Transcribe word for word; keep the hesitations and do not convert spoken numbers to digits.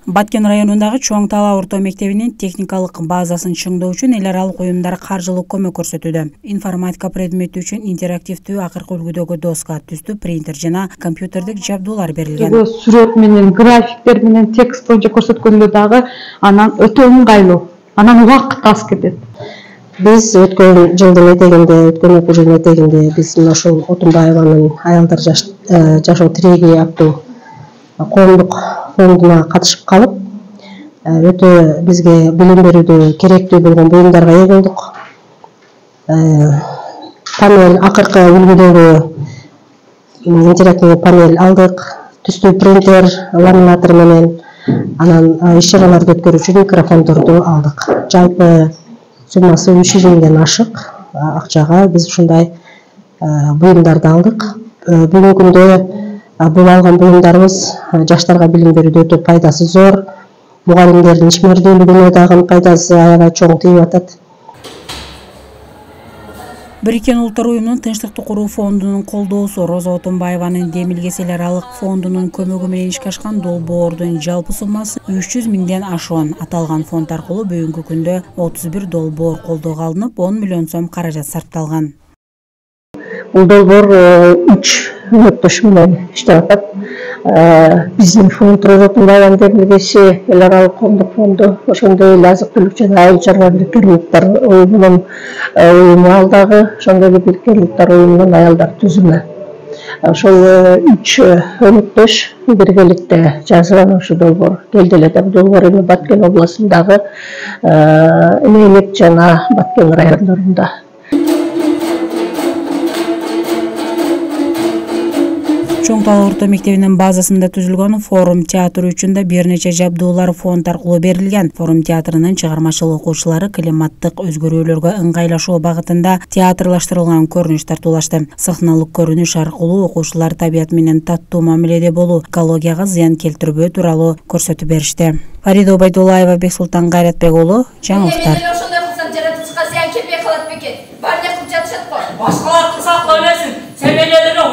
Баткен районундагы Чоң Тала орто мектебинин техникалык базасын чыңдоо үчүн эл аралык уюмдар каржылык көмөк көрсөтүүдө. Информатика предмети үчүн интерактивдүү акыркы үлгүдөгү доска, түстүү принтер жана компьютердик жабдуулар берилген. Сүрөт менен, графиктер менен, текст боюнча көрсөткөндө дагы анан өтө ыңгайлуу. Анан убакыт аз кетет. Биз өткөн жылдын этегинде, өткөн окуу жылдын этегинде биз мына ушул Отунбаеванын аялдар жашоо тиреги аттуу коомдук фондуна катышып калып, өтө бизге билим берүүдө керектүү болгон буюмдарга ээ болдук. Панель, акыркы үлгүдөгү интерактивдүү панель алдык, түстүү принтер, ламинатор менен, анан иш чараларды өткөрүүчү микрофондорду алдык. Жалпы суммасы үч жүз миңден ашык акчага биз ушундай буюмдарды алдык. Бүгүнкү күндө бул алган буюмдарыбыз жаштарга билим берүүдө өтө пайдасы зор. Мугалимдердин ишмердүүлүгүнө дагы пайдасы аябай чоң тийип атат. Бириккен Улуттар уюмунун Тынчтыкты куруу фондунун колдоосу, Роза Отунбаеванын Демилгес эл аралык фондунун көмөгү менен ишке ашкан долбоордун жалпы суммасы үч жүз миңден ашуун. Аталган фонд аркылуу бүгүнкү күндө отуз бир долбоор колдоого алынып, он миллион сом каражат сарпталган. Бул долбоор үч өнөктөш менен иштеп атат. Биздин фонд Роза Отунбаеванын Демилгеси эл аралык коомдук фонду, ошондой эле азык түлүк жана айыл чарба бириккен улуттар уюмунун уюму, ал дагы ошондой эле бириккен улуттар уюмунун аялдар түзүмү. Ошол үч өнөктөш биргеликте жазган ушу долбоор келди эле да. Долбоор эми Баткен областындагы Энелик жана Баткен райондорунда. Чоң Тала орто мектебинин базасында түзүлгөн форум театр үчүн да бир нече жабдуулар фонд аркылуу берилген. Форум театрынын чыгармачыл окуучулары климаттык өзгөрүүлөргө ыңгайлашуу багытында театрлаштырылган көрүнүш тартуулашты. Сахналык көрүнүш аркылуу окуучулар табият менен таттуу мамиледе болуу, экологияга зыян келтирбөө тууралуу көрсөтүп беришти. Фарида Убайдуллаева, Бексултан Кайратбек уулу, жаңылыктар. Башкалар кылса кыла берсин. Себелелерге